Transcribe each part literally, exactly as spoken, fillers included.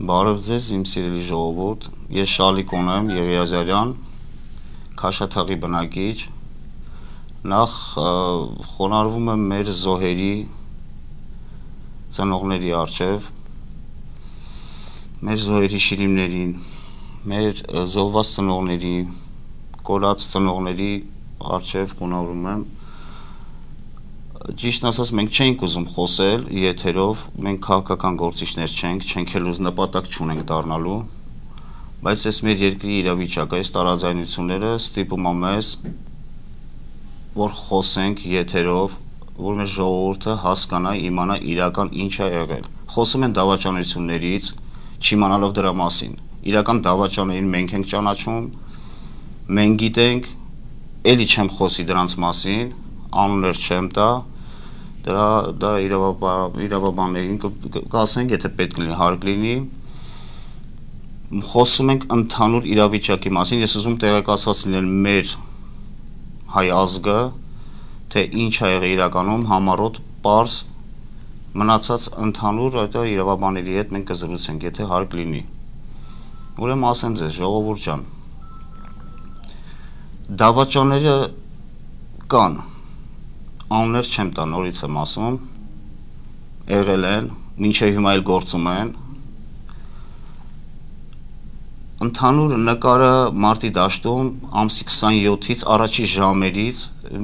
Բարև ձեզ, իմ սիրելի ժողովուրդ, ես Շալիկոն եմ, Եղիազարյան, Քաշաթաղի բնակիչ, նախ խոնարհվում եմ մեր զոհերի ծնողների առջև, մեր զոհերի շիրիմներին, մեր զոհված ծնողների, կորած ծնողների առջև խոնարհվում եմ։ Ճիշտն ասած, մենք չենք ուզում խոսել եթերով, մենք քաղաքական գործիչներ չենք, չենք էլ ուզ նպատակ չունենք դառնալու, բայց այս մեր երկրի իրավիճակը, այս տարաձայնությունները ստիպում է մեզ, որ խոսենք եթերով, որ մեր ժողովուրդը հասկանա, իմանա իրական ինչ է եղել։ Խոսում են դավաճանություններից, չիմանալով դրա մասին։ Իրական դավաճաներին մենք ենք ճանաչում, մենք գիտենք, էլի չեմ խոսի դրանց մասին, անուններ չեմ տա, դրա դա իրավաբաններին կասենք, եթե պետք լինի, հարկ լինի, խոսում ենք ընդհանուր իրավիճակի մասին, ես ուզում տեղեկացված լինել մեր հայ ազգը, թե ինչ է եղել իրականում, համառոտ, պարզ, մնացած ընդհանուր իրավաբանների հետ մենք կզրուցենք, եթե հարկ լինի։ Ուրեմն ասեմ ձեզ, ժողովուրդ ջան, դավաճանները կան, անուններ չեմ տա, նորից եմ ասում, եղել են, մինչև հիմա էլ գործում են, ընդհանուր նկարը մարտի դաշտում ամսի քսանյոթից առաջի ժամերից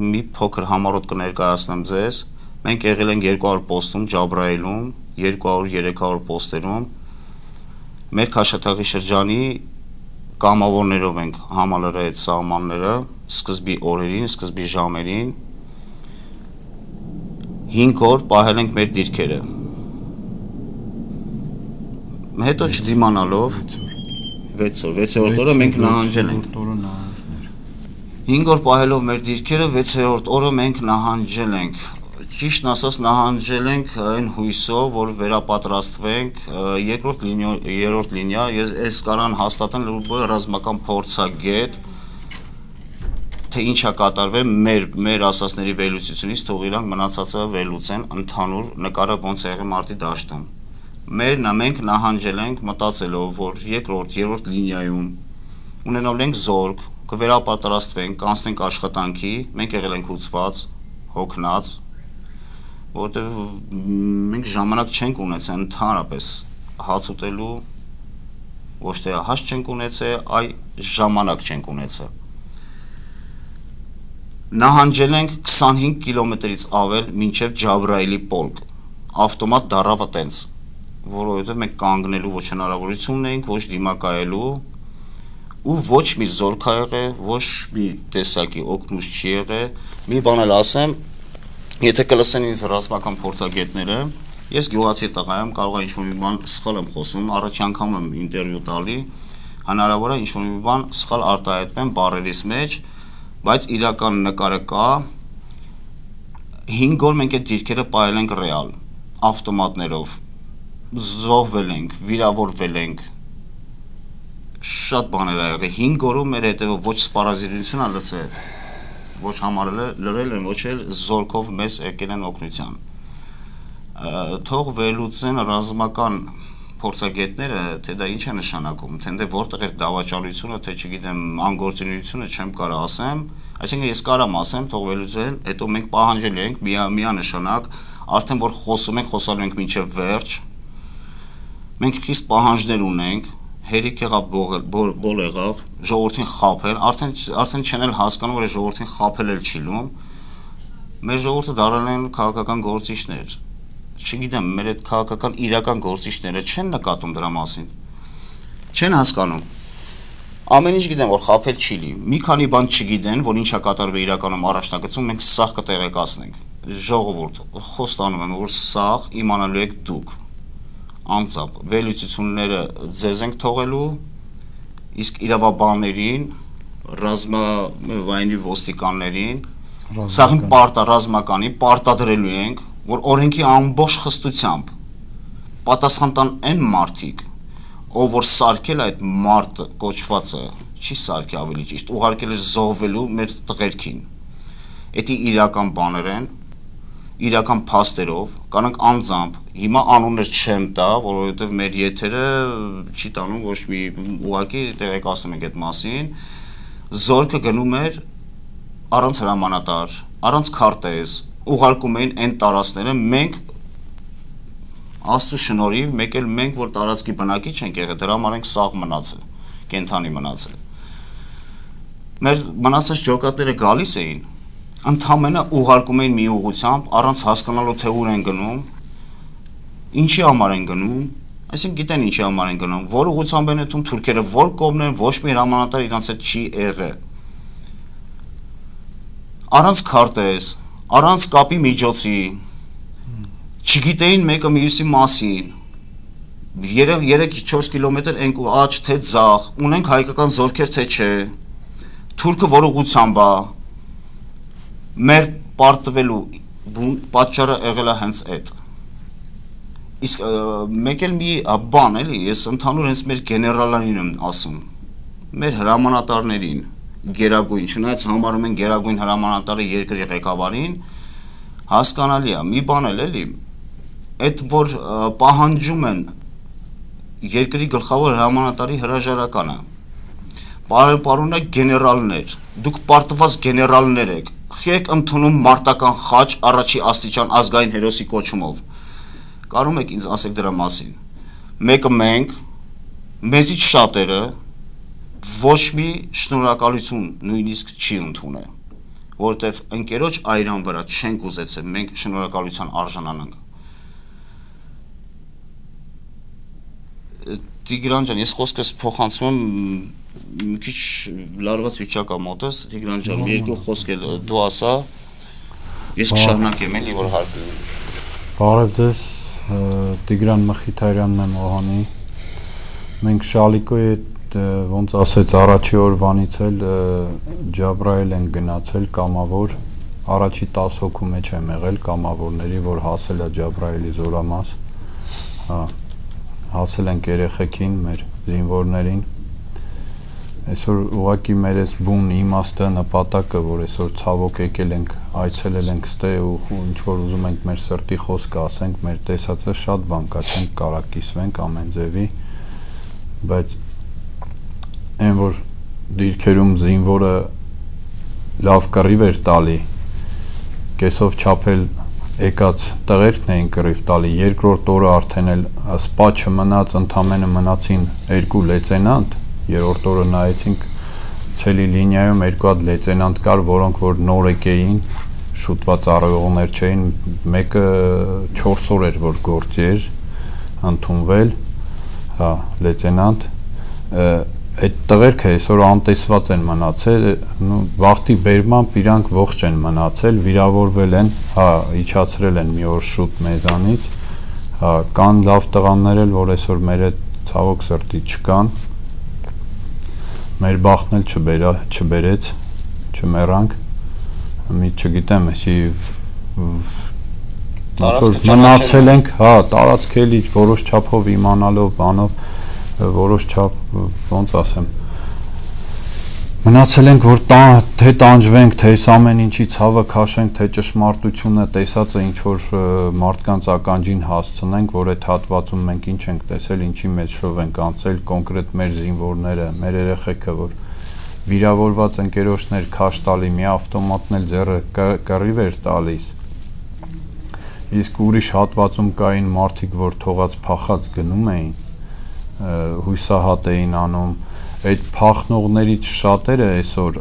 մի փոքր համառոտ կներկայացնեմ ձեզ, մենք եղել ենք երկու հարյուր պոստում Ջաբրայիլում, երկու հարյուր երեք հարյուր պոստերում, մեր Քաշաթաղի շրջանի կամավորներով ենք համալրել այդ սահմանները, սկզբի օրերին, սկզբի ժամերին, հինգ օր պահել ենք մեր դիրքերը, հետո չդիմանալով, վեց օր, վեցերորդ օրը մենք նահանջել ենք, հինգ օր պահելով մեր դիրքերը, վեցերորդ օրը մենք նահանջել ենք, ճիշտն ասած նահանջել ենք այն հույսով, որ վերապատրաստվենք, երրորդ լինիա, ես կարան հաստատեն ռազմական փորձագետ, թե ինչ է կատարվել մեր ասածների վերլուծությունից, թող իրանք մնացածը վերլուծեն ընդհանուր նկարը ոնց է եղել մարտի դաշտում։ Մենք նահանջել ենք մտածելով, որ երկրորդ, երրորդ լինիայում ունենալ ենք զորք, կվերապատրաստվենք, կանցնենք աշխատանքի, մենք եղել ենք հուծված, հոգնած, որովհետև մենք ժամանակ չենք ունեցել ընդհանրապես հաց ուտելու, ոչ թե հաց չենք ունեցել, այ ժամանակ չենք ունեցել։ Նահանջել ենք քսանհինգ կիլոմետրից ավել մինչև Ջաբրայիլի պոլկ, ավտոմատ դառավ տենց, որովհետև մենք կանգնելու ոչ հնարավորություն ունեինք, ոչ դիմակայելու, ու ոչ մի զորք ա եղել, ոչ մի տեսակի օգնուց չի եղել, մի բան էլ ասեմ, եթե կլսեն ինձ ռազմական փորձագետները, ես գյուղացի տղա եմ, կարող է ինչ-որ մի բան սխալ եմ խոսում, առաջի անգամ եմ ինտերվյու տալի, հնարավոր է ինչ-որ մի բան սխալ արտահայտվեմ բառերիս մեջ, բայց իրական նկարը կա, հինգ օր մենք այդ դիրքերը պահել ենք ռեալ, ավտոմատներով, զոհվել ենք, վիրավորվել ենք, շատ բաներ ա եղել, հինգ օրում մեր հետևը ոչ սպառազինություն ա լցել, ոչ համարել լրել են, ոչ էլ զորքով մեզ եկել են օգնության։ Թող վերլուծեն ռազմական փորձագետները, թե դա ինչ է նշանակում, թե դե որտեղ է դավաճանությունը, թե չգիտեմ, անգործունությունը չեմ կարող ասեմ, այսինքն ես կարամ ասեմ, թող վերլուծեն, հետո մենք պահանջել ենք միանշանակ, արդեն որ խոսում ենք, խոսալու ենք մինչև վերջ, մենք խիստ պահանջներ ունենք, հերիք եղավ, բոլ եղավ, ժողովրդին խաբել, արդեն չեն էլ հասկանում, որ ժողովրդին խաբել էլ չի լում, մեր ժողովուրդը դառել են քաղաքական գործիչներ, չգիտեմ, մեր այդ քաղաքական իրական գործիչները չեն նկատում դրա մասին, չեն հասկանում, ամեն ինչ գիտեն, որ խաբել չի լի, մի քանի բան չգիտեն, որ ինչ է կատարվել իրականում առաջնագծում, մենք սաղ կտեղեկացնենք, ժողովուրդ, խոստանում եմ, որ սաղ իմանալու եք դուք, անձամբ, վերլուծությունները ձեզ ենք թողելու, իսկ իրավաբաններին, ռազմավայրի ոստիկաններին, սաղին ռազմականի պարտադրելու ենք, որ օրենքի ամբողջ խստությամբ պատասխան տան այն մարդիկ, ով որ սարքել այդ մարդը կոչվածը, չի սարքի ավելի ճիշտ, ուղարկել էր զոհվելու մեր տղերքին, էդի իրական բաներ են, իրական փաստերով, կանանք անձամբ, հիմա անուններ չեմ տա, որովհետև մեր եթերը չի տանում ոչ մի ուղղակի տեղեկացնում ենք այդ մասին, զորքը գնում էր առանց հրամանատար, առանց քարտեզ, ուղարկում էին այն տարածքները, մենք Աստծո շնորհիվ, մեկ էլ մենք, որ տարածքի բնակիչ ենք եղել, դրա համար ենք սաղ մնացել, կենթանի մնացել։ Մեր մնացած ջոկատները գալիս էին, ընդամենը ուղարկում էին մի ուղղությամբ, առանց հասկանալու թե ուր են գնում, ինչի համար են գնում, այսինքն գիտեն ինչի համար են գնում, որ ուղղությամբ են եթում թուրքերը, որ կողմն են, ոչ մի հրամանատար իրանց հետ չի եղել։ Առանց քարտեզ, առանց կապի միջոցի, չգիտեին մեկը մյուսի մասին, երեք-չորս կիլոմետր ենք ու աջ թե ձախ, ունենք հայկական զորքեր թե չէ, թուրքը որ ուղղությամբ է, մեր պարտվելու պատճառը եղել է հենց այդ։ Իսկ մեկ էլ մի բան էլի, ես ընդհանուր հենց մեր գեներալներին եմ ասում, մեր հրամանատարներին, գերագույն, չնայած համարում են գերագույն հրամանատարը երկրի ղեկավարին, հասկանալի է, մի բան էլ էլի, այդ որ պահանջում են երկրի գլխավոր հրամանատարի հրաժարականը, պարոնակ գեներալներ, դուք պարտված գեներալներ եք, եք ընդունում մարտական խաչ առաջի աստիճան ազգային հերոսի կոչումով, կարում եք ինձ ասեք դրա մասին, մեկը մենք, մեզից շատերը, ոչ մի շնորհակալություն նույնիսկ չի ընդունել, որովհետև ընկերոջ այրան վրա չենք ուզեցել, մենք շնորհակալության արժանանանք։ Տիգրան ջան, ես խոսքս փոխանցում եմ մի քիչ լարված վիճակա մոտս, Տիգրան ջան, մի երկու խոսք էլ դու ասա, ես կշարունակեմ էլի, որ հարկը։ Բարև ձեզ, Տիգրան Մխիթարյանն եմ Օհանի։ Մենք Շալիկոյի հետ ոնց ասեց առաջի օրվանից էլ Ջաբրայել են գնացել կամավոր, առաջի տասը հոգու մեջ եմ եղել կամավորների, որ հասել է Ջաբրայելի զորամաս, հասել ենք երեխեքին, մեր զինվորներին, այսօր ուղղակի մեր այս բուն իմաստը նպատակը, որ այսօր ցավոք եկել ենք, այցելել ենք ստե ու ինչ որ ուզում ենք մեր սրտի խոսքը ասենք, մեր տեսածը շատ բան կա, չենք կարա կիսվենք ամեն ձևի, բայց այն որ դիրքերում զինվորը լավ կռիվ էր տալի, կեսով չափել եկած տղերքն էին կռիվ տալի, երկրորդ օրը արդեն էլ սպա չմնաց, ընդամենը մնացին երկու լեյտենանտ, երրորդ օրը նայեցինք ցելի լինիայում երկու հատ լեյտենանտ կար, որոնք որ նորեկ էին, շուտված առողներ չէին, մեկը չորս օր էր որ գործի էր ընդունվել, հա, լեյտենանտ, այդ տղերքը այսօր անտեսված են մնացել, վախտի բերմամբ իրանք ողջ են մնացել, վիրավորվել են, հա, իջացրել են մի օր շուտ մեզանից, հա, կան լավ տղաներ էլ, որ այսօր մեր այդ ցավոք սրտի չկան, մեր բախտն էլ չբերա, չբերեց, չմեռանք, մի չգիտեմ, էսի մնացել ենք, հա, տարածք էլի որոշ չափով իմանալով, բանով, որոշ չափ, ոնց ասեմ, մնացել ենք, որ թե տանջվենք, թե այս ամեն ինչի ցավը քաշենք, թե ճշմարտությունը տեսածը ինչ-որ մարդկանց ականջին հասցնենք, որ այդ հատվածում մենք ինչ ենք տեսել, ինչի մեջ շով ենք անցել, կոնկրետ մեր զինվորները, մեր երեխեքը, որ վիրավորված ընկերոջներ քաշ տալի, մի ավտոմատն էլ ձեռը կռիվ էր տալիս, իսկ ուրիշ հատվածում կային մարդիկ, որ թողած փախած գնում էին, հույսահատ էին անում, այդ փախնողներից շատերը այսօր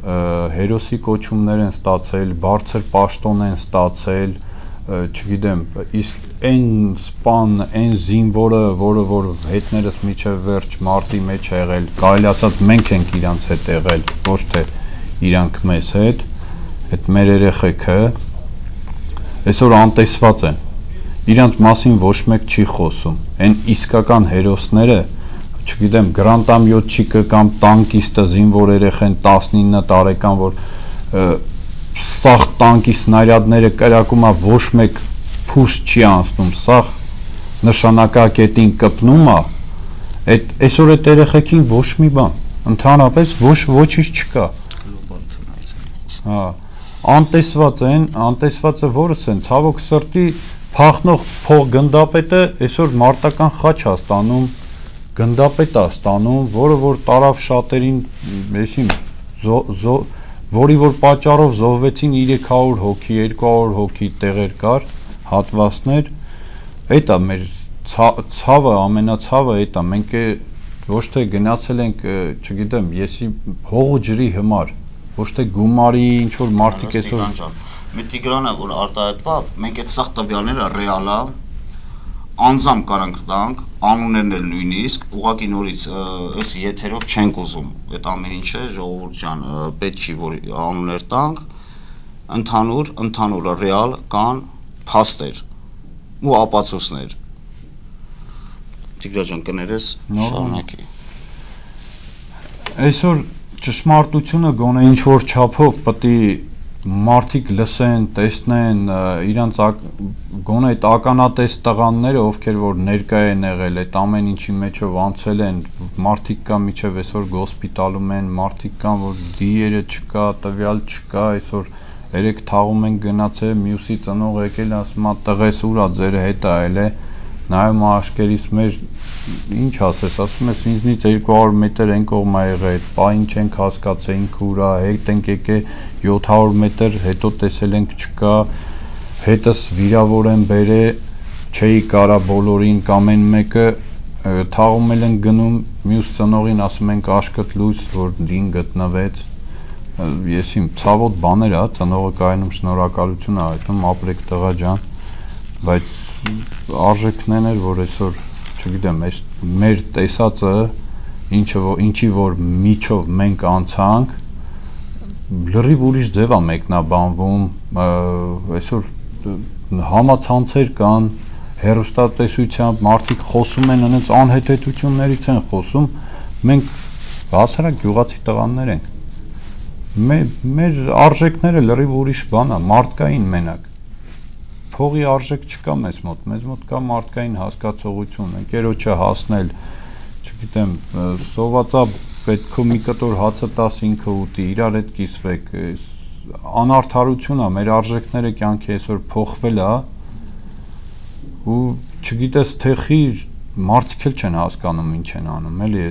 հերոսի կոչումներ են ստացել, բարձր պաշտոն են ստացել, չգիտեմ, իսկ այն սպան, այն զինվորը, որը որ հետներս միջև վերջ մարտի մեջ է եղել, կարելի ասած մենք ենք իրանց հետ եղել, ոչ թե իրանք մեզ հետ, այդ մեր երեխեքը այսօր անտեսված են, իրանց մասին ոչ մեկ չի խոսում, այն իսկական հերոսները չգիտեմ, գրանտամյոթչիկը կամ տանկիստը զինվոր երեխեն տասնինը տարեկան, որ սաղ տանկի սնարյադները կրակում է, ոչ մեկ փուս չի անցնում, սաղ նշանակակետին կպնում է, այսօր այդ երեխեքին ոչ մի բան, ընդհանրապես ոչ ոչինչ չկա, հա, անտեսված են, անտեսվածը որս են, ցավոք սրտի փախնող փող գնդապետը այսօր մարտական խաչ է ստանում, գնդապետ է ստանում, որը որ տարավ շատերին, այսին որի որ պատճառով զոհվեցին երեք հարյուր հոգի, երկու հարյուր հոգի տեղեր կար, հատվածներ, այդ է մեր ցավը, ամենացավը այդ է, մենք ոչ թե գնացել ենք, չգիտեմ, եսի հող ու ջրի համար, ոչ թե գումարի ինչ որ մարդիկ այսօր մի Տիգրանը որ արտահայտվավ, մենք այդ սաղ տվյալները ռեալ է, անձամբ կարանք տանք, անուններն էլ նույնիսկ, ուղղակի նորից այս եթերով չենք ուզում, այդ ամեն ինչը ժողովուրդ ջան, պետք չի որ անուններ տանք, ընդհանուր, ընդհանուր ռեալ կան փաստեր ու ապացույցներ։ Տիգրա ջան, կներես, շարունակի։ Այսօր ճշմարտությունը գոնե ինչ որ չափով պետք է մարդիկ լսեն, տեսնեն, իրանց գոնե այդ ականատես տղաները, ովքեր որ ներկա են եղել, այդ ամեն ինչի մեջով անցել են, մարդիկ կան միջև այսօր հոսպիտալում են, մարդիկ կան որ դիերը չկա, տվյալ չկա, այսօր երեք թաղում են գնացել, մյուսի ծնող եկել ասում է տղես ուր է, ձեր հետ է այլ է, նայում աշկերից մեր ինչ ասես, ասում ես ինձնից երկու հարյուր մետր են կողմա եղել, պային չենք հասկացեինք ուրա, հետ ենք եկել յոթ հարյուր մետր, հետո տեսել ենք չկա, հետս վիրավոր են բերե, չէի կարա բոլորին կամ են մեկը թաղում են գնում, մյուս ծնողին ասում ենք աշկտ լույս, որ դին գտնվեց, ես իմ ցավոտ բաներ է, ծնողը կայանում շնորհակալություն է հայտնում, ապրեք տղա ջան, բայց արժեքներն էր, որ այսօր չգիտեմ, այս մեր տեսածը ինչը ինչի որ միջով մենք անցանք լրիվ ուրիշ ձև է մեկնաբանվում, այսօր համացանցեր կան, հեռուստատեսությամբ մարդիկ խոսում են, այնց անհետեթություններից են խոսում, մենք հասարակ գյուղացի տղաներ ենք, մեր արժեքները լրիվ ուրիշ բան է, մարդկային մենակ փողի արժեք չկա մեզ մոտ, մեզ մոտ կա մարդկային հասկացողություն, ընկերոջը հասնել, չգիտեմ, սովածա պետք է մի կտոր հացը տաս ինքը ուտի, իրար հետ կիսվեք, անարդարություն է, մեր արժեքները կյանքի այսօր փոխվել է ու չգիտես թե խի մարդիկ էլ չեն հասկանում ինչ են անում, էլի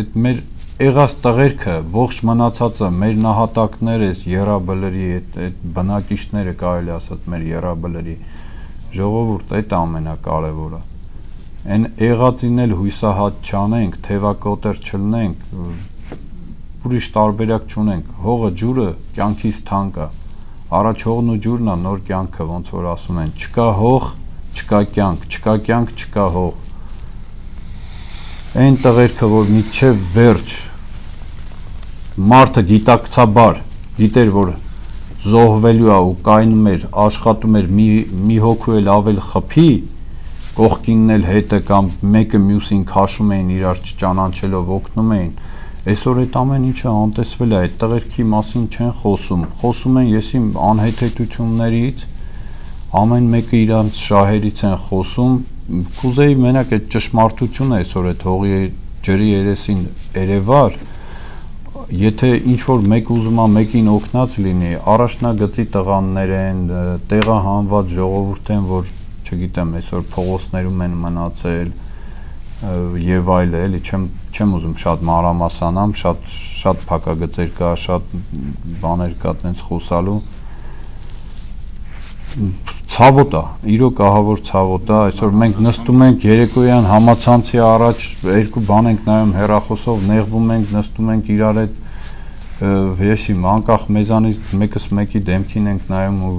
այդ մեր եղած տղերքը, ողջ մնացածը, մեր նահատակները, եռաբլրի, այդ բնակիչները կարելի ասած մեր եռաբլրի ժողովուրդ, այդ ամենակարևորը։ Այն եղածին էլ հույսահատ չանենք, թևակոտեր չլնենք, ուրիշ տարբերակ չունենք։ Հողը, ջուրը կյանքից թանկ է։ Առաջ հողն ու ջուրն է նոր կյանքը, ոնց որ ասում են, չկա հող, չկա կյանք, չկա կյանք, չկա հող։ Այն տղերքը, որ միջև վերջ մարդը գիտակցաբար գիտեր, որ զոհվելու է ու կայնում էր, աշխատում էր մի, մի հոգու էլ ավել խփի, կողքինն էլ հետը կամ մեկը մյուսին քաշում էին իրար չճանաչելով օգնում էին, այսօր այդ ամեն ինչը անտեսվել է, այդ տղերքի մասին չեն խոսում, խոսում են եսի անհետեթություններից, ամեն մեկը իրանց շահերից են խոսում, կուզեի մենակ այդ ճշմարտությունը այսօր այդ հողի ջրի երեսին երևար, եթե ինչ-որ մեկ ուզում է մեկին օգնած լինի, առաջնագծի տղաներ են, տեղահանված ժողովուրդ են, որ չգիտեմ, այսօր փողոցներում են մնացել եւ այլը, էլի չեմ չեմ ուզում շատ մանրամասանամ, շատ շատ փակագծեր կա, շատ բաներ կա տենց խոսալու ցավոտ է, իրոք ահավոր ցավոտ է, այսօր մենք նստում ենք երեկոյան համացանցի առաջ, երկու բան ենք նայում հեռախոսով, նեղվում ենք, նստում ենք իրար հետ, ես իմ անկախ մեզանից մեկս մեկի դեմքին ենք նայում ու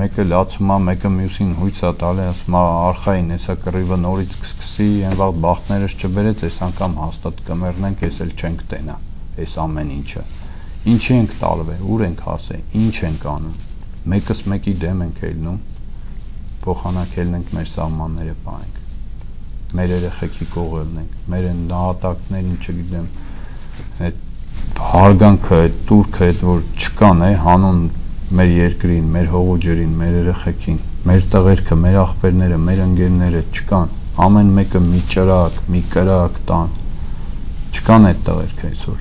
մեկը լացում է, մեկը մյուսին հույց է տալի, ասում է արխային, հեսա կռիվը նորից կսկսի, այն վաղ բախտներս չբերեց, այս անգամ հաստատ կմեռնենք, ես էլ չենք տենա, այս ամեն ինչը, ինչի ենք տալվել, ուր ենք հասել, ինչ ենք անում, մեկս մեկի դեմ ենք ելնում, փոխանակելն ենք մեր սահմանները պահենք, մեր երեխեքի կողելն ենք, մեր նահատակներին, չգիտեմ, այդ հարգանքը, այդ տուրքը, այդ որ չկան է, հանուն մեր երկրին, մեր հողու ջրին, մեր երեխեքին, մեր տղերքը, մեր աղբերները, մեր ընկերները չկան, ամեն մեկը մի ճրակ, մի կրակ տան, չկան այդ տղերքը այսօր,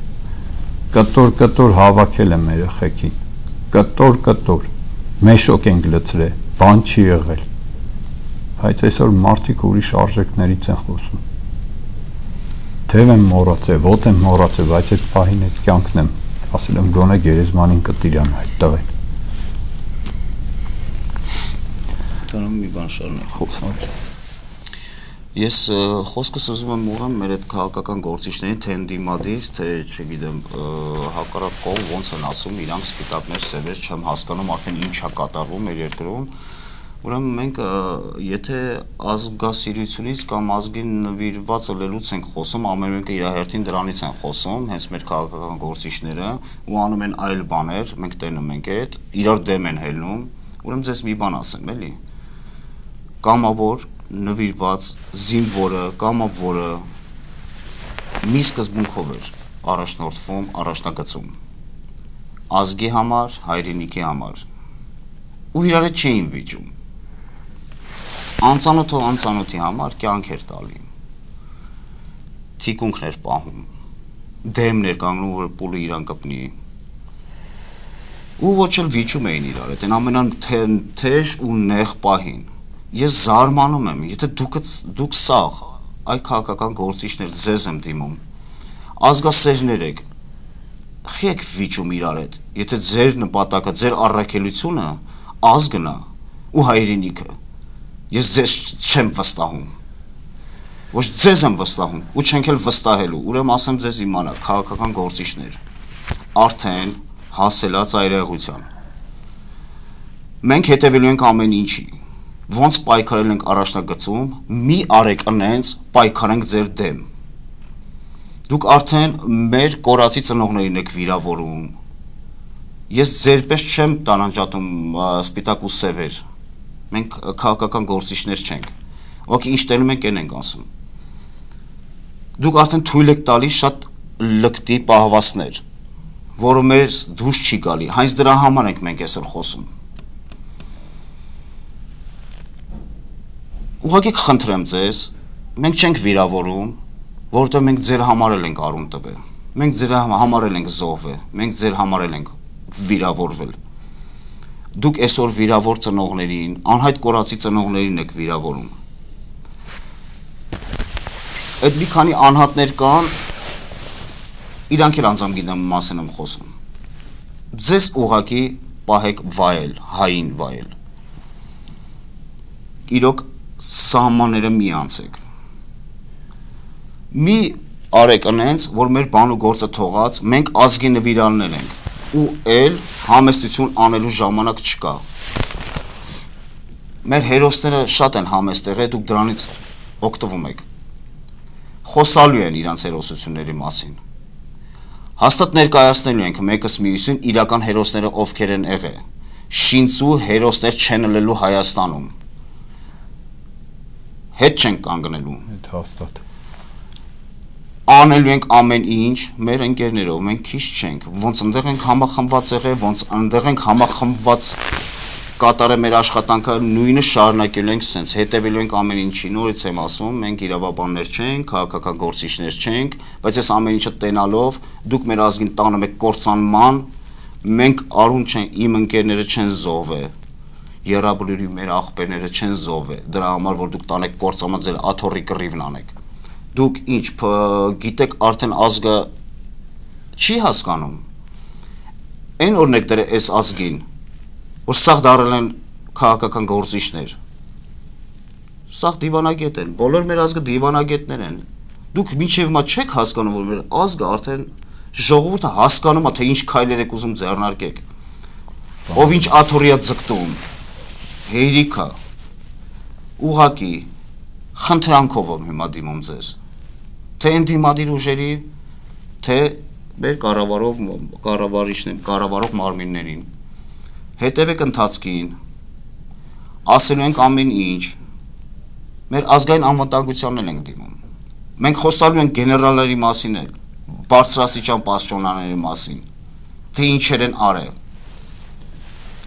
կտոր-կտոր հավաքել է մեր երեխեքին, կտոր կտոր, մեշոկ ենք լցրել, բան չի եղել, բայց այսօր մարդիկ ուրիշ արժեքներից են խոսում, թև եմ մոռացել, ոտ եմ մոռացել, բայց այդ պահին այդ կյանքն եմ, ասել եմ գոնե գերեզմանին կտիրամ այդ տղեն, Կանոն մի բան շարունակ խոսալ Ես խոսքս ուզում եմ ուղղեմ մեր այդ քաղաքական գործիչներին, թե ընդդիմադիր, թե չգիտեմ, հակառակ կողմ ոնց են ասում, իրանք սպիտակներ, սևեր, չեմ հասկանում արդեն ինչ է կատարվում մեր երկրում։ Ուրեմն մենք եթե ազգասիրությունից կամ ազգին նվիրված ըլելուց ենք խոսում, ամեն մեկը իր հերթին դրանից են խոսում, հենց մեր քաղաքական գործիչները ու անում են այլ բաներ, մենք տենում ենք այդ, իրար դեմ են հելնում։ Ուրեմն ձեզ մի բան ասեմ, էլի։ Կամավոր նվիրված զինվորը, կամավորը մի սկզբունքով էր առաջնորդվում, առաջնագծում ազգի համար, հայրենիքի համար ու իրար հետ չէին վիճում անծանոթը անծանոթի համար կյանք էր տալի թիկունքներ պահում դեմներ կանգնում, որ պուլը իրան կպնի ու ոչ էլ վիճում էին իրար հետ, այն ամենան թեժ ու նեղ պահին Ես զարմանում եմ, եթե դուք, դուք սաղ, այ քաղաքական գործիչներ ձեզ եմ դիմում, ազգասերներ եք, խի եք վիճում իրար հետ, եթե ձեր նպատակը, ձեր առաքելությունը ազգն է ու հայրենիքը, ես ձեզ չեմ վստահում, ոչ ձեզ եմ վստահում ու չենք էլ վստահելու, ուրեմն ասեմ ձեզ իմանա, քաղաքական գործիչներ, արդեն հասելած այրեղության, մենք հետևելու ենք ամեն ինչի, Ոնց պայքարել ենք առաջնագծում, մի արեք ընենց պայքարենք ձեր դեմ։ Դուք արդեն մեր կորացի ծնողներին եք վիրավորում։ Ես ձերպես չեմ տանանջատում սպիտակ ու սևեր։ Մենք քաղաքական գործիչներ չենք։ Օքեյ, ինչ տենում ենք, այն ենք ասում։ Դուք արդեն թույլ եք տալիս շատ լկտի պահվածներ, որը մեր դուրս չի գալի։ Հենց դրա համար ենք մենք այսօր խոսում։ Ուղղակի կխնդրեմ ձեզ, մենք չենք վիրավորում, որովհետև մենք ձեր համար ենք արուն տվել, մենք ձեր համար ենք զոհվել, մենք ձեր համար ենք վիրավորվել։ Դուք այսօր վիրավոր ծնողներին, անհայտ կորացի ծնողներին եք վիրավորում։ Այդ մի քանի անհատներ կան, իրանք էլ անձամբ գիտեմ մասին եմ խոսում։ Ձեզ ուղղակի պահեք վայել, հային վայել։ Իրոք սահմանները մի անցեք։ Մի արեք ընենց, որ մեր բան ու գործը թողած, մենք ազգի նվիրալներ ենք, ու էլ համեստություն անելու ժամանակ չկա։ Մեր հերոսները շատ են համեստ եղել, դուք դրանից օգտվում եք։ Խոսալու են իրանց հերոսությունների մասին։ Հաստատ ներկայացնելու ենք մեկս մյուսին իրական հերոսները ովքեր են եղել։ Շինծու հերոսներ չեն ըլելու Հայաստանում։ Հետ չենք կանգնելու։ Այդ հաստատ։ Անելու ենք ամեն ինչ մեր ընկերներով, մենք քիչ չենք, ոնց ընդեղ ենք համախմբված եղել, ոնց ընդեղ ենք համախմբված կատարել մեր աշխատանքը, նույնը շարունակելու ենք սենց, հետևելու ենք ամեն ինչի, նորից եմ ասում, մենք իրավաբաններ չենք, քաղաքական գործիչներ չենք, բայց այս ամեն ինչը տենալով, դուք մեր ազգին տանում եք կործանման, մենք արուն չենք, իմ ընկերները չեն զոհվել Եռաբլուրի մեր աղբերները չեն զոհվել, դրա համար որ դուք տանեք կործանման ձեր աթոռի կռիվն անեք։ Դուք ինչ գիտեք արդեն ազգը չի հասկանում։ Այն օրինակ դրե այս ազգին, որ սաղ դարել են քաղաքական գործիչներ։ Սաղ դիվանագետ են, բոլոր մեր ազգը դիվանագետներ են։ Դուք մինչև հիմա չեք հասկանում, որ մեր ազգը արդեն ժողովուրդը հասկանում է, թե ինչ քայլեր եք ուզում ձեռնարկեք։ Ով ինչ աթոռի է ձգտում։ Հերիքա, ուղակի, խնդրանքով եմ հիմա դիմում ձեզ, թե ընդդիմադիր ուժերի, թե մեր կառավարող մարմիններին, հետևեք ընթացքին, ասելու ենք ամեն ինչ, մեր ազգային անվտանգությանն ենք դիմում, մենք խոսալու ենք գեներալների մասին էլ, բարձրաստիճան պաշտոնյաների մասին, թե ինչեր են արել,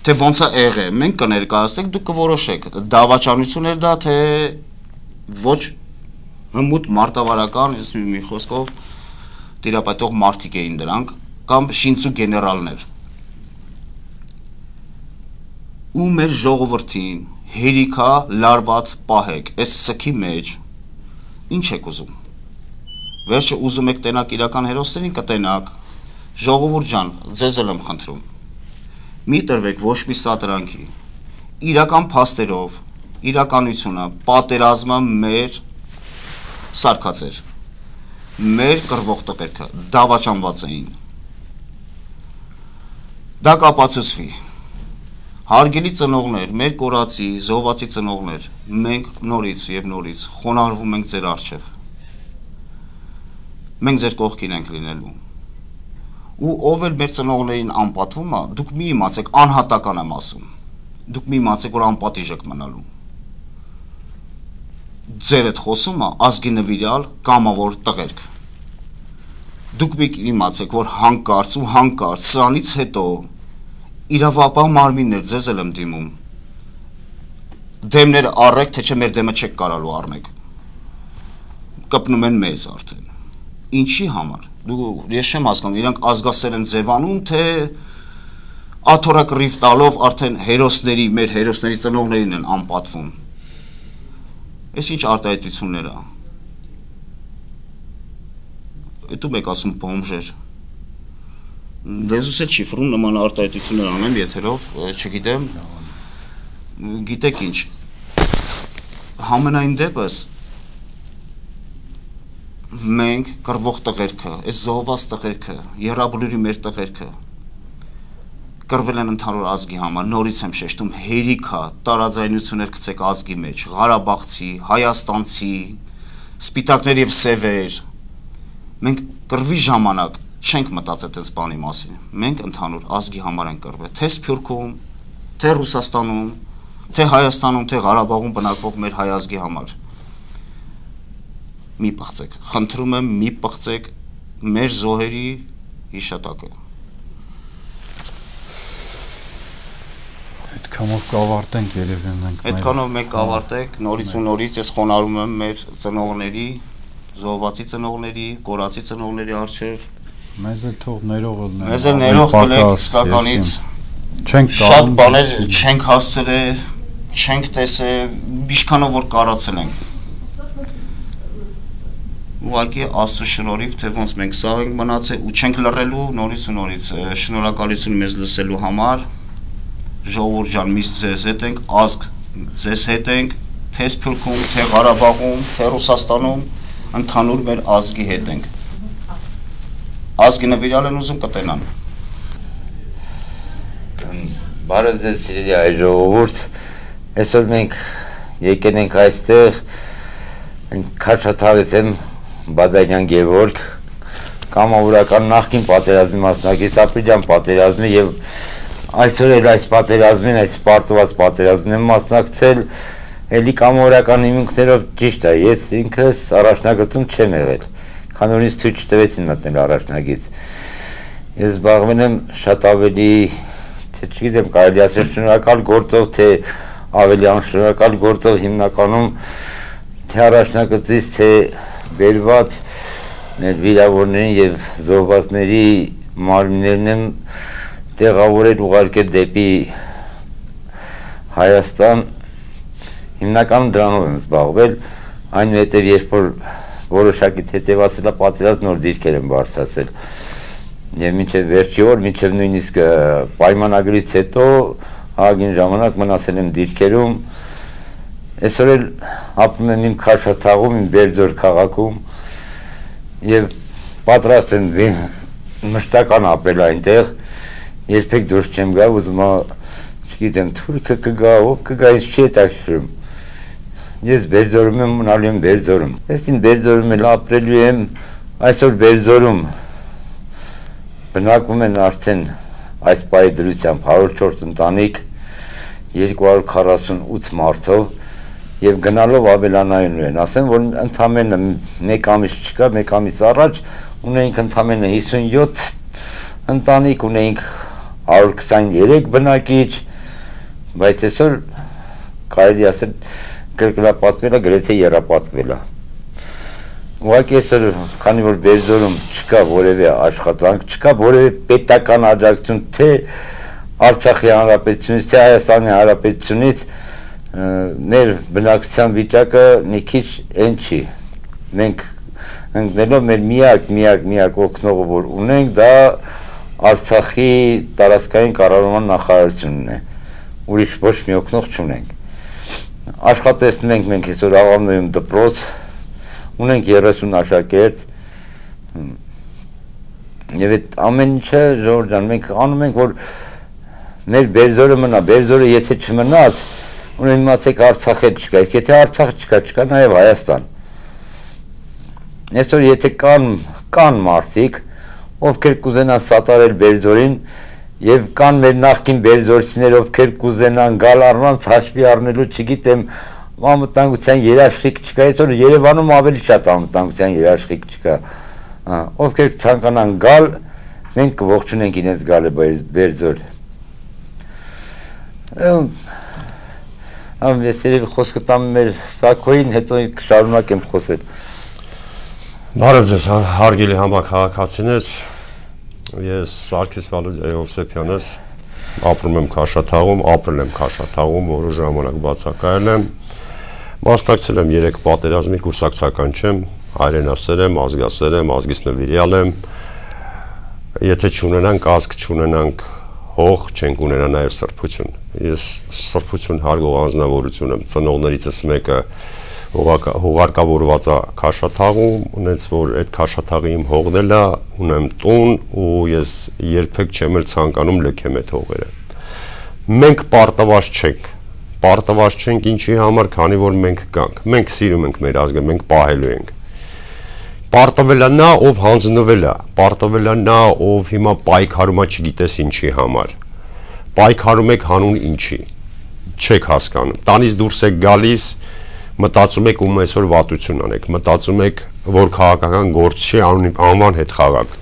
թե ոնց է եղել, մենք կներկայացնենք, դուք կորոշեք, դավաճանություն էր դա, թե ոչ հմուտ մարտավարական, մի խոսքով տիրապետող մարդիկ էին դրանք, կամ շինծու գեներալներ։ ու մեր ժողովրդին հերիքա լարված պահեք, այս սքի մեջ, ինչ եք ուզում, վերջը ուզում եք տենակ իրական հերոսներին կտենակ, ժողովուրդ ջան, ձեզ էլ եմ խնդրում, մի տրվեք ոչ մի սատրանքի, իրական փաստերով, իրականությունը, պատերազմը մեր սարկած էր, մեր կռվող տղերքը դավաճանված էին, դա կապացուցվի, հարգելի ծնողներ, մեր կորացի, զոհվածի ծնողներ, մենք նորից և նորից խոնարհվում ենք ձեր առջև, մենք ձեր կողքին ենք լինելու, ու ով էլ մեր ծնողներին անպատվում է, դուք մի իմացեք, անհատական եմ ասում, դուք մի իմացեք, որ անպատիժ եք մնալու, ձեր այդ խոսումը ազգի նվիրյալ կամավոր տղերք, դուք մի իմացեք, որ հանկարծ ու հանկարծ սրանից հետո իրավապահ մարմիններ ձեզ էլ եմ դիմում, դեմներ առեք, թե չէ մեր դեմը չեք կարալու առնեք, կպնում են մեզ արդեն, ինչի համար, դու ես չեմ հասկանում, իրանք ազգասեր են ձևանում, թե աթոռակռիվ տալով արդեն հերոսների, մեր հերոսների ծնողներին են անպատվում, ես ինչ արտահայտություններ է, դու մեկ ասում բոմժեր, լեզուս էլ չի ֆրում նման արտահայտություններ անեմ եթերով, չգիտեմ, գիտեք ինչ, համենայն դեպս մենք կռվող տղերքը, այս զոհված տղերքը, եռաբլուրի մեր տղերքը կռվել են ընդհանուր ազգի համար, նորից եմ շեշտում, հերիքա, տարաձայնություններ գցեք ազգի մեջ, Ղարաբաղցի, Հայաստանցի, սպիտակներ և սևեր, մենք կռվի ժամանակ չենք մտածել այս բանի մասին, մենք ընդհանուր ազգի համար ենք կռվել, թե Սփյուռքում, թե Ռուսաստանում, թե Հայաստանում, թե Ղարաբաղում բնակվող մեր հայ ազգի համար, մի պղծեք, խնդրում եմ մի պղծեք մեր զոհերի հիշատակը։ Այդքանով կավարտենք երևի մենք։ Այդքանով մենք կավարտենք, նորից ու նորից ես խոնարհում եմ մեր ծնողների, զոհվածի ծնողների, կորացի ծնողների առջև։ Մեզ էլ թող ներողը լինի։ Մեզ էլ ներող կլեք իսկականից։ Չենք շատ բաներ չենք հասցրել, չենք տեսել, ինչքանով որ կարացել ենք։ Ուղղակի Աստծո շնորհիվ, թե ոնց մենք սաղ ենք մնացել ու չենք լռելու, նորից ու նորից շնորհակալություն մեզ լսելու համար, ժողովուրդ ջան, միշտ ձեզ հետ ենք, ազգ ձեզ հետ ենք, թե Սփյուռքում, թե Ղարաբաղում, թե Ռուսաստանում, ընդհանուր մեր ազգի հետ ենք։ Ազգի նվիրյալ են ուզում կտենան։ Բարև ձեզ սիրելի հայ ժողովուրդ, այսօր մենք եկել ենք այստեղ, Քաչաթավից եմ Բադարյան Գևորգ, կամավորական նախկին պատերազմի մասնակից, ապրիլյան պատերազմի և այսօր էլ այս պատերազմին, այս պարտված պատերազմին եմ մասնակցել, էլի կամավորական հիմունքներով ճիշտ է, ես ինքս առաջնագծում չեմ եղել, քանի որ ինձ ցույց չտվեցին մտնել առաջնագիծ։ Ես զբաղվել եմ շատ ավելի, թե չգիտեմ, կարելի ասել շնորհակալ գործով, թե ավելի անշնորհակալ գործով հիմնականում թե առաջնագծից, թե բերված մեր վիրավորներին և զոհվածների մարմիններն եմ տեղավորել ուղարկել դեպի Հայաստան, հիմնականում դրանով եմ զբաղվել, այնուհետև երբ որ որոշակի թեթևացել է պատերազմ, նոր դիրքեր եմ բարձրացել և մինչև վերջի օր, մինչև նույնիսկ պայմանագրից հետո Հաագին ժամանակ մնացել եմ դիրքերում, այսօր էլ ապրում եմ իմ Քաշաթաղում, իմ Բերձոր քաղաքում և պատրաստ եմ մշտական ապրել այնտեղ, երբեք դուրս չեմ գա, ուզում չգիտեմ, թուրքը կգա, ով կգա, ինձ չի հետաքրքրում։ Ես Բերձորում եմ, մնալու եմ Բերձորում։ Ես իմ Բերձորում էլ ապրելու եմ, այսօր Բերձորում բնակվում են արդեն այս պահի դրությամբ հարյուր չորս ընտանիք, երկու հարյուր քառասունութ մարդով և գնալով ավելանայում են, ասեմ, որ ընդամենը մեկ ամիս չկա, մեկ ամիս առաջ ունեինք ընդամենը հիսունյոթ ընտանիք, ունեինք հարյուր քսաներեք բնակիչ, բայց այսօր կարելի ասել կրկնապատկվել է, գրեթե եռապատկվել է։ Ուղղակի այսօր, քանի որ Բերձորում չկա որևէ աշխատանք, չկա որևէ պետական աջակցություն, թե Արցախի հանրապետությունից, թե Հայաստանի հանրապետությունից մեր բնակչության վիճակը մի քիչ այն չի։ Մենք ընկնելով մեր միակ, միակ, միակ օգնողը որ ունենք, դա Արցախի տարածքային կառավարման նախարարությունն է։ Ուրիշ ոչ մի օգնող չունենք։ Աշխատեցնում ենք մենք այսօր Աղավնոյում դպրոց, ունենք երեսուն աշակերտ, եւ այդ ամեն ինչը Ժողովուրդ ջան, մենք անում ենք, որ մեր Բերձորը մնա, Բերձորը եթե չմնաց, ունեն իմացեք Արցախ էլ չկա, իսկ եթե Արցախ չկա, չկա նաեւ Հայաստան։ Այսօր եթե կան կան մարդիկ, ովքեր կուզենան սատարել Բերձորին, եւ կան մեր նախկին բերձորցիներ, ովքեր կուզենան գալ առանց հաշվի առնելու, չգիտեմ, անվտանգության երաշխիք չկա, այսօր Երևանում ավելի շատ անվտանգության երաշխիք չկա, ովքեր ցանկանան գալ, մենք կողջունենք իրենց գալը Բերձոր։ Ամ ես երևի խոսքը տամ մեր Սակոյին, հետո կշարունակեմ խոսել։ Բարև ձեզ, հարգելի համաքաղաքացիներ, ես Սարգիս Հովսեփյանս ապրում եմ Քաշաթաղում, ապրել եմ Քաշաթաղում, որը ժամանակ բացակայել եմ, մասնակցել եմ երեք պատերազմի, կուրսակցական չեմ, հայրենասեր եմ, ազգասեր եմ, ազգից նվիրյալ եմ, եթե չունենանք ազգ, չունենանք հող, չենք ունենա նաև սրբություն։ Ես սրբություն հարգող անձնավորություն եմ, ծնողներիցս մեկը հողարկավորված է Քաշաթաղում, ունենց որ այդ Քաշաթաղի իմ հողն է, ունեմ տուն ու ես երբեք չեմ էլ ցանկանում լքեմ այդ հողերը։ Մենք պարտավոր չենք, պարտավոր չենք ինչի համար, քանի որ մենք կանք։ Մենք սիրում ենք մեր ազգը, մենք պահելու ենք։ Պարտվել է նա, ով հանձնվել է, պարտվել է նա, ով հիմա պայքարում է չգիտես ինչի համար։ Պայքարում եք հանուն ինչի։ Չեք հասկանում։ Տանից դուրս եք գալիս, մտածում եք ում այսօր վատություն անեք, մտածում եք, որ քաղաքական գործ չի անվան հետ խաղաք,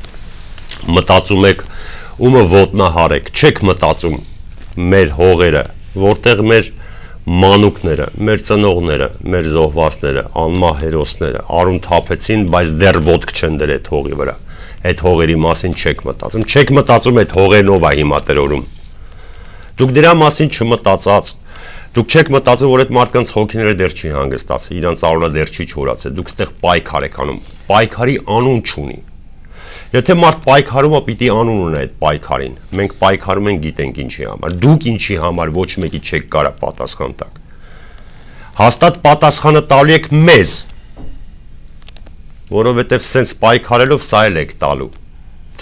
մտածում եք ումը ոտնահարեք, չեք մտածում մեր հողերը, որտեղ մեր մանուկները, մեր ծնողները, մեր զոհվածները, անմահ հերոսները արուն թափեցին, բայց դեռ ոտք չեն դրել այդ հողի վրա, այդ հողերի մասին չեք մտածում, չեք մտածում այդ հողերն ով է հիմա տրորում, դուք դրա մասին չմտածած, դուք չեք մտածում, որ այդ մարդկանց հոգիները դեռ չի հանգստացել, իրանց արունը դեռ չի չորացել, դուք ստեղ պայքար եք անում, պայքարի անուն չունի։ Եթե մարդ պայքարում է, պիտի անուն ունի այդ պայքարին, մենք պայքարում ենք գիտենք ինչի համար, դուք ինչի համար ոչ մեկի չեք կարա պատասխան տակ։ Հաստատ պատասխանը տալու եք մեզ, որովհետև սենց պայքարելով սա էլ եք տալու,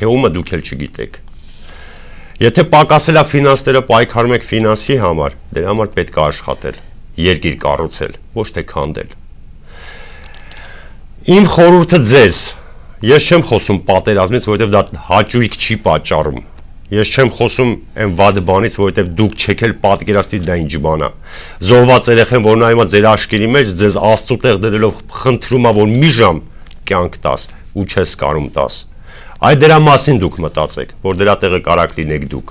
թե ումը դուք էլ չգիտեք։ Եթե պակասել է ֆինանսները պայքարում եք ֆինանսի համար, դրա համար պետք է աշխատել, երկիր կառուցել, ոչ թե քանդել։ Իմ խորհուրդը ձեզ, ես չեմ խոսում պատերազմից, որովհետև դա հաճույք չի պատճառում։ Ես չեմ խոսում այն վատ բանից, որովհետև դուք չեք էլ պատկերացնի դա ինչ բան է։ Զոհված երեխան, որ նա հիմա ձեր աշկերի մեջ ձեզ Աստծո տեղ դրելով խնդրում է, որ մի ժամ կյանք տաս ու չես կարում տաս։ Այդ դրա մասին դուք մտածեք, որ դրա տեղը կարակ լինեք դուք։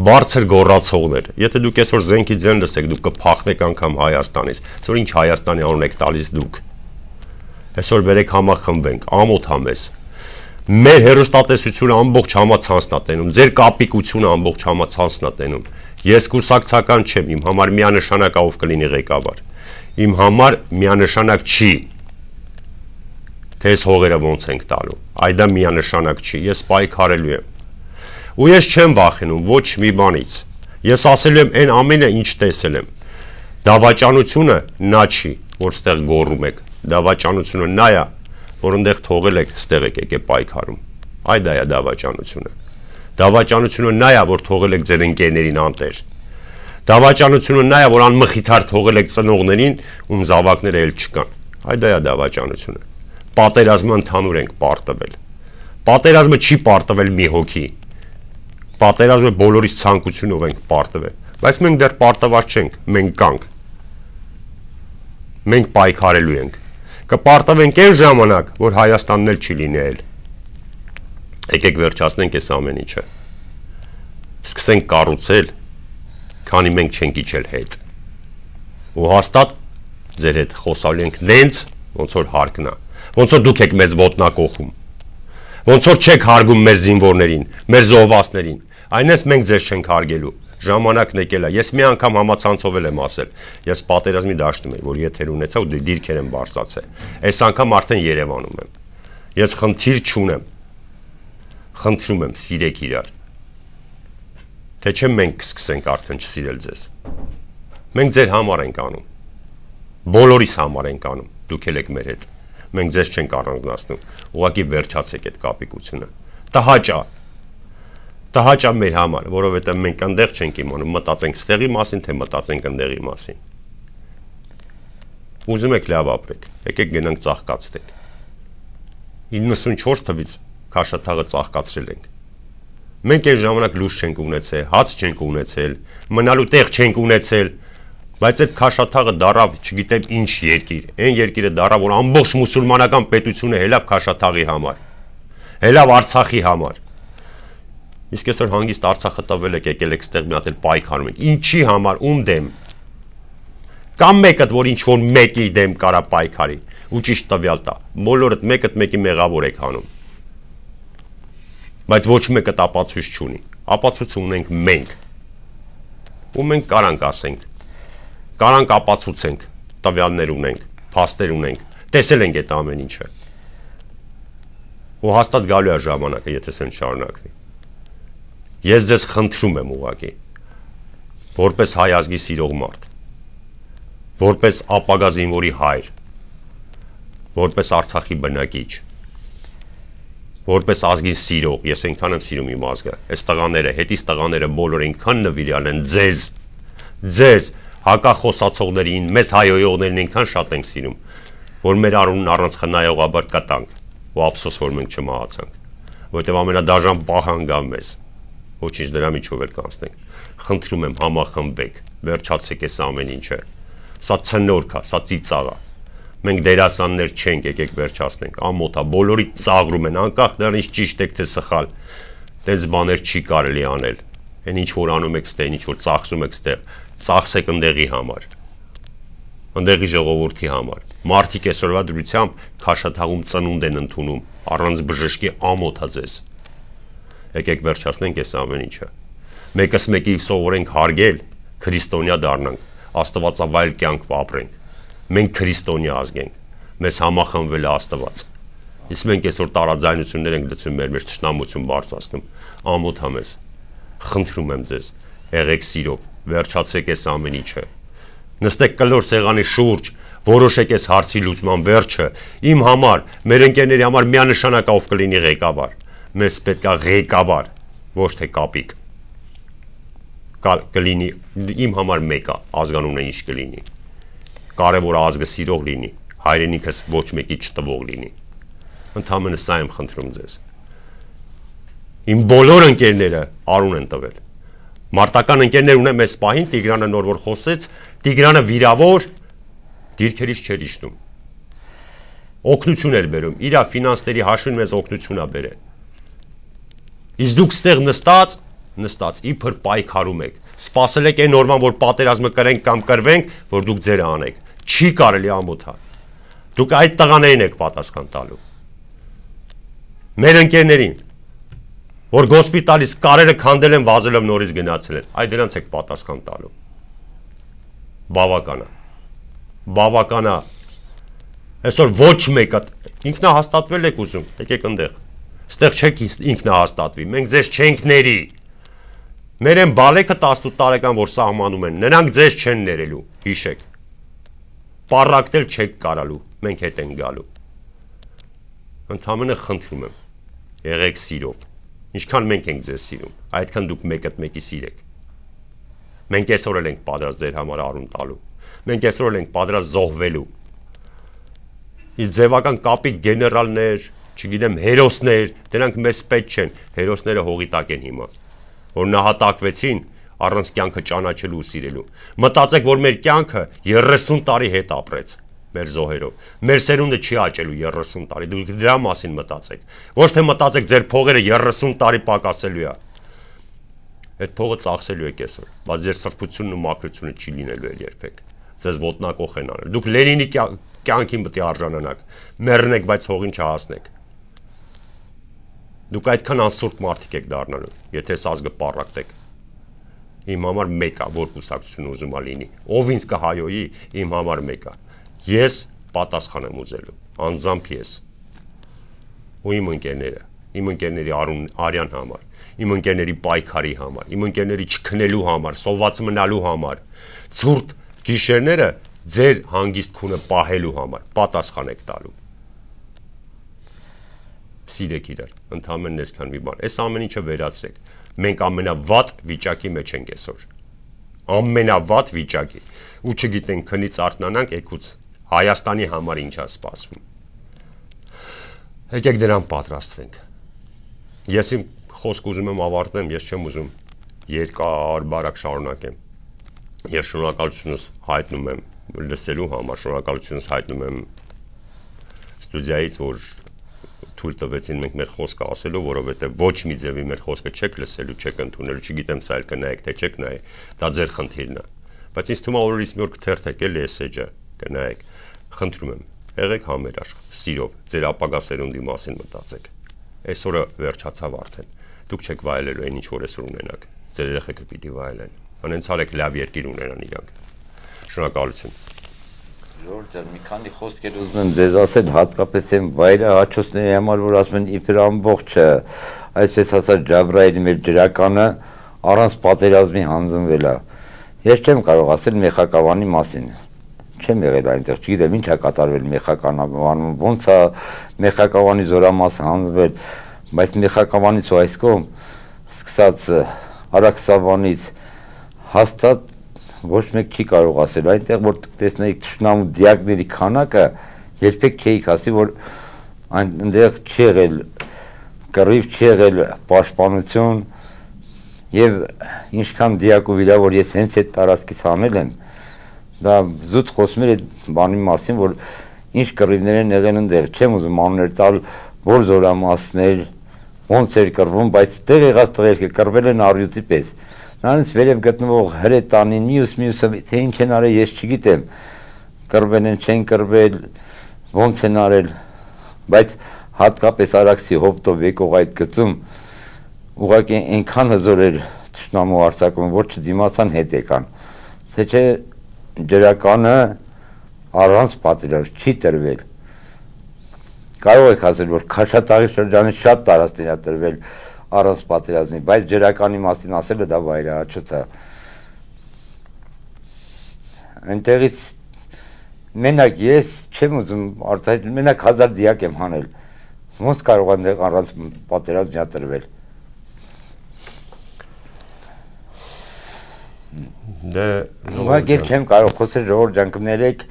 Բարձր գոռացողներ, եթե դուք այսօր զենքի ձեն լսեք, դուք կփախնեք անգամ Հայաստանից, այսօր ինչ Հայաստանի անուն եք տալիս դուք։ Այսօր վերեք համախմբենք, ամոթ համես։ Մեր հերոստատեսությունը ամբողջ համացանցն է տենում, ձեր կապիկությունը ամբողջ համացանցն է տենում։ Ես կուրսակցական չեմ, իմ համար միանշանակ ով կլինի ղեկավար։ Իմ համար միանշանակ չի թե այս հողերը ոնց ենք տալու, այդ դա միանշանակ չի, ես պայքարելու եմ, ու ես չեմ վախենում ոչ մի բանից, ես ասելու եմ այն ամենը ինչ տեսել եմ, դավաճանությունը նա չի, որ ստեղ գոռում եք, դավաճանությունը նա է, որ ընդեղ թողել եք, ստեղ եք եկե պայքարում, այդ դա է դավաճանությունը, դավաճանությունը նա է, որ թողել եք ձեր ընկերներին անտեր, դավաճանությունը նա է, որ անմխիթար թողել եք ծնողներին, ում զավակները էլ չկան, այդ դա է դավաճանությունը։ Պատերազմը ընդհանուր ենք պարտվել։ Պատերազմը չի պարտվել մի հոգի։ Պատերազմը բոլորիս ցանկությունով ենք պարտվել, բայց մենք դեռ պարտված չենք, մենք կանք։ Մենք պայքարելու ենք։ Կպարտվենք այն ժամանակ, որ Հայաստանն էլ չի լինել։ Եկեք վերջացնենք այս ամեն ինչը։ Սկսենք կառուցել, քանի մենք չենք իջել հետ։ Ու հաստատ ձեր հետ խոսալու ենք նենց, ոնց որ հարկն է։ Ոնց որ դուք եք մեզ ոտնակողում, ոնց որ չեք հարգում մեր զինվորներին, մեր զոհվածներին, Այնպես մենք ձեզ չենք հարգելու։ Ժամանակն եկել է։ Ես մի անգամ համացանցով եմ ասել։ Ես պատերազմի դաշտում եմ, որ եթեր ունեցա ու դիրքեր եմ բարձրացել։ Այս անգամ արդեն Երևանում եմ։ Ես խնդիր չունեմ։ Խնդրում եմ, սիրեք իրար։ Թե չէ մենք կսկսենք արդեն չսիրել ձեզ։ Մենք ձեր համար ենք անում։ Բոլորիս համար ենք անում։ Դուք եք մեր հետ։ Մենք ձեզ չենք առանձնացնում։ Ուղղակի վերջացեք այդ կապիկությունը։ Տհաճա։ Տհաճա մեր համար, որովհետև մենք այնտեղ չենք իմանում, մտածենք ստեղի մասին, թե մտածենք այնտեղի մասին։ Ուզում եք լավ ապրեք, եկեք գնանք ծաղկացնենք։ իննսունչորս թվից քաշաթաղը ծաղկացրել ենք։ Մենք այն ժամանակ լույս չենք ունեցել, հաց չենք ունեցել, մնալու տեղ չենք ունեցել, բայց այդ քաշաթաղը դարավ, չգիտեմ ինչ երկիր, այն երկիրը դարավ, որ ամբողջ մուսուլմանական պետությունը հելավ քաշաթաղի համար, հելավ Արցախի համար։ Իսկ այսօր հանգիստ Արցախը տվել եք, եկել եք ստեղ մի հատ էլ պայքարում եք։ Ինչի համար, ում դեմ։ Կամ մեկը, որ ինչ որ մեկի դեմ կարա պայքարի, ու ճիշտ տվյալ տա։ Բոլորդ մեկը մեկի մեղավոր եք հանում։ Բայց ոչ մեկը ապացույց չունի։ Ապացույց ունենք մենք։ Ու մենք կարանք ասենք։ Կարանք ապացուցենք, տվյալներ ունենք, փաստեր ունենք, տեսել ենք այդ ամեն ինչը։ Ու հաստատ գալու է ժամանակը, եթե սեն շարունակվի։ Ես ձեզ խնդրում եմ ուղղակի, որպես հայ ազգի սիրող մարդ, որպես ապագա զինվորի հայր, որպես Արցախի բնակիչ, որպես ազգին սիրող, ես այնքան եմ սիրում իմ ազգը, այս տղաները, հետից տղաները բոլոր այնքան նվիրյալ են ձեզ, ձեզ, հակախոսացողներին, մեզ հայոյողներին այնքան շատ ենք սիրում, որ մեր արունն առանց խնայողաբար կտանք, ու ափսոս, որ մենք չմահացանք, որտեղ ամենադաժան պահան գա մեզ, ոչինչ դրա միջով էլ կանցնենք, խնդրում եմ համախմբեք, վերջացեք այս ամեն ինչը, սա ցնորք է, սա ծիծաղ է, մենք դերասաններ չենք, եկեք վերջացնենք, ամոթ է, բոլորի ծաղրում են, անկախ դրանից ճիշտ եք թե սխալ, տենց բաներ չի կարելի անել, այն ինչ որ անում եք ստեղ, ինչ որ ծախսում եք ստեղ, ծախսեք ընդեղի համար, ընդեղի ժողովրդի համար, մարդիկ այսօրվա դրությամբ քաշաթաղում ծնունդ են ընդունում, առանց բժշկի ամոթ է ձեզ, եկեք վերջացնենք այս ամեն ինչը, մեկս մեկի սովորենք հարգել, քրիստոնյա դառնանք, աստվածավայել կյանք ապրենք, մենք քրիստոնյա ազգ ենք, մեզ համախմբվել է Աստված, իսկ մենք այսօր տարաձայնություններ ենք լցում մեր մեջ թշնամություն բարձրացնում, ամոթ է մեզ, խնդրում եմ ձեզ, եղեք սիրով, վերջացրեք այս ամեն ինչը, նստեք կլոր սեղանի շուրջ, որոշեք այս հարցի լուծման վերջը, իմ համար, մեր ընկերների համար միանշանակ ով կլինի ղեկավար, մեզ պետք է ղեկավար, ոչ թե կապիկ, կլինի, իմ համար մեկը, ազգանունը ինչ կլինի, կարևոր ազգը սիրող լինի, հայրենիքս ոչ մեկի չտվող լինի, ընդհանրապես սա եմ խնդրում ձեզ, իմ բոլոր ընկերները արուն են տվել, մարտական ընկերներ ունեմ այս պահին, Տիգրանը նոր որ խոսեց, Տիգրանը վիրավոր, դիրքերից չէր իջնում, օգնություն էր բերում, իրա ֆինանսների հաշվին մեզ օգնություն է բերել, իսկ դուք ստեղ նստած, նստած, իբր պայքարում եք, սպասել եք այն օրվան, որ պատերազմը կրենք կամ կրվենք, որ դուք ձերը անեք, չի կարելի ամոթա, դուք այդ տղաներին եք պատասխան տալու, մեր ընկերներին, որ գոսպիտալից կարերը քանդել են, վազելով նորից գնացել են, այդ դրանց եք պատասխան տալու, բավական է, բավական է, այսօր ոչ մեկը, ինքնահաստատվել եք ուզում, եկեք ընդեղ, ստեղ չեք ինքնահաստատվի, մենք ձեզ չենք ների, մեր են բալեքը տասնութ տարեկան, որ սահմանում են, նրանք ձեզ չեն ներելու, հիշեք, պառակտել չեք կարալու, մենք հետ են գալու, ընդհանրապես խնդրում եմ, եղեք սիրով, ինչքան մենք ենք ձեզ սիրում, այդքան դուք մեկըդ մեկի սիրեք, մենք այսօր էլ ենք պատրաստ ձեր համար արուն տալու, մենք այսօր էլ ենք պատրաստ զոհվելու, իսկ ձևական կապիկ գեներալներ, չգիտեմ, հերոսներ, դրանք մեզ պետք չեն, հերոսները հողի տակ են հիմա, որ նահատակվեցին առանց կյանքը ճանաչելու ու սիրելու, մտածեք, որ մեր կյանքը երեսուն տարի հետ ապրեց, մեր զոհերով, մեր սերունդը չի աճելու երեսուն տարի, դուք դրա մասին մտածեք, ոչ թե մտածեք ձեր փողերը երեսուն տարի պակասելու է, այդ փողը ծախսելու եք այսօր, բայց ձեր սրբությունն ու մաքրությունը չի լինելու էլ երբեք, ձեզ ոտնակոխ են անել, դուք Լենինի կյանքին պետք է արժանանաք, մեռնեք, բայց հողին չհասնեք, Դուք այդքան անսուրբ մարդիկ եք դառնալու, եթե այս ազգը պառակտեք։ Իմ համար մեկ է, որ կուսակցություն ուզում է լինի։ Ով ինձ կհայոյի, իմ համար մեկ է։ Ես պատասխան եմ ուզելու, անձամբ ես։ Ու իմ ընկերները, իմ ընկերների Արյան համար, իմ ընկերների պայքարի համար, իմ ընկերների չքնելու համար, սոված մնալու համար, ցուրտ գիշերները ձեր հանգիստ քունը պահելու համար, պատասխան եք տալու։ Սիրեք իրար, ընդհանրեն այսքան մի բան։ Այս ամեն ինչը վերացրեք։ Մենք ամենավատ վիճակի մեջ ենք այսօր։ Ամենավատ վիճակի։ Ու չգիտենք քնից արթնանանք, եկուց Հայաստանի համար ինչա սպասվում։ Եկեք դրան պատրաստվենք։ Ես իմ խոսք ուզում եմ ավարտեմ, ես չեմ ուզում երկար բարակ շարունակեմ։ Ես շնորհակալությունս հայտնում եմ լսելու համար, շնորհակալությունս հայտնում եմ ստուդիայից, որ թույլ տվեցին մենք մեր խոսքը ասելու, որովհետև ոչ մի ձևի մեր խոսքը չեք լսելու, չեք ընդունելու, չգիտեմ սա էլ կնայեք, թե չեք նայ, դա ձեր խնդիրն է։ Բայց ինձ թվում է որ իսկ մի օր կթերթեք էլի այս էջը, կնայեք, խնդրում եմ, եղեք համերաշխ, սիրով, ձեր ապագա սերունդի մասին մտածեք։ Այսօրը վերջացավ արդեն։ Դուք չեք վայելելու այն ինչ որ այսօր ունենաք։ Ձեր երեխեքը պիտի վայելեն։ Անենցարեք լավ երկիր ունենան իրանք։ Շնորհակալություն։ Ժորժ ջան, մի քանի խոսքեր ուզում եմ ձեզ ասել, հատկապես այն վայրը հաճոցների համար, որ ասում են իբր ամբողջը, այսպես ասած Ջավրայելի մեր ջրականը առանց պատերազմի հանձնվել է։ Ես չեմ կարող ասել Մեխակավանի մասին։ Չեմ եղել այնտեղ, չգիտեմ ինչ է կատարվել Մեխակավանում, ոնց է Մեխակավանի զորամասը հանձնվել, բայց Մեխակավանից ու այս կողմ սկսած Արաքսավանից հաստատ ոչ մեկ չի կարող ասել, այնտեղ որ տեսնեիք թշնամու դիակների քանակը, երբեք չէիք ասի, որ այնտեղ չի եղել կռիվ, չի եղել պաշտպանություն եւ ինչքան դիակ ու վիրա, որ ես հենց այդ տարածքից անել եմ, դա զուտ խոսում էր այդ բանի մասին, որ ինչ կռիվներ են եղել այնտեղ, չեմ ուզում անուններ տալ, որ զորամասներ, ոնց էր կռվում, բայց տեղ եղած տղերքը կռվել են առյուծի պես։ Նրանց վերև գտնվող հրետանին մյուս մյուսը թե ինչ են արել ես չգիտեմ, կռվել են, չեն կռվել, ոնց են արել, բայց հատկապես Արաքսի հովտով եկող այդ գծում ուղղակի այնքան հզոր էր թշնամու արձակում, որ չդիմացան հետ եկան, թե չէ ջրականը առանց պատերազմ չի տրվել։ Կարող եք ասել, որ Քաշաթաղի շրջանի շատ տարածքներ է տրվել առանց պատերազմի, բայց ջրականի մասին ասելը դա վայրահաճոց է։ Այնտեղից մենակ ես չեմ ուզում արտահայտել, մենակ հազար դիակ եմ հանել։ Ոնց կարող է այնտեղ առանց պատերազմի տրվել։ Դե ուղղակի չեմ կարող խոսել, Ժողովուրդ ջան, կներեք,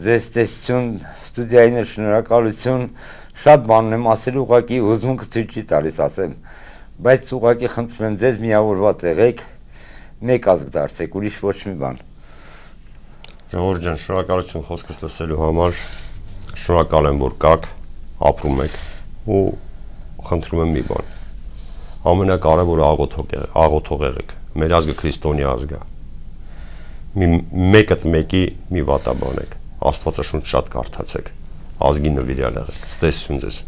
ձեզ տեսություն, ստուդիային շնորհակալություն, շատ բան եմ ասել, ուղղակի հուզմունքը ցույց չի տալիս ասեմ, բայց ուղղակի խնդրում եմ ձեզ միավորված եղեք, մեկ ազգ դարձեք, ուրիշ ոչ մի բան։ Ժողովուրդ ջան, շնորհակալություն խոսքս լսելու համար, շնորհակալ եմ, որ կաք, ապրում եք ու խնդրում եմ մի բան։ Ամենակարևորը աղոթող եղեք, մեր ազգը քրիստոնյա ազգ է։ Մի մեկդ մեկի մի վատաբանեք, Աստվածաշունչ շատ կարդացեք, ազգի նվիրյալ եղեք, ցտեսություն ձեզ։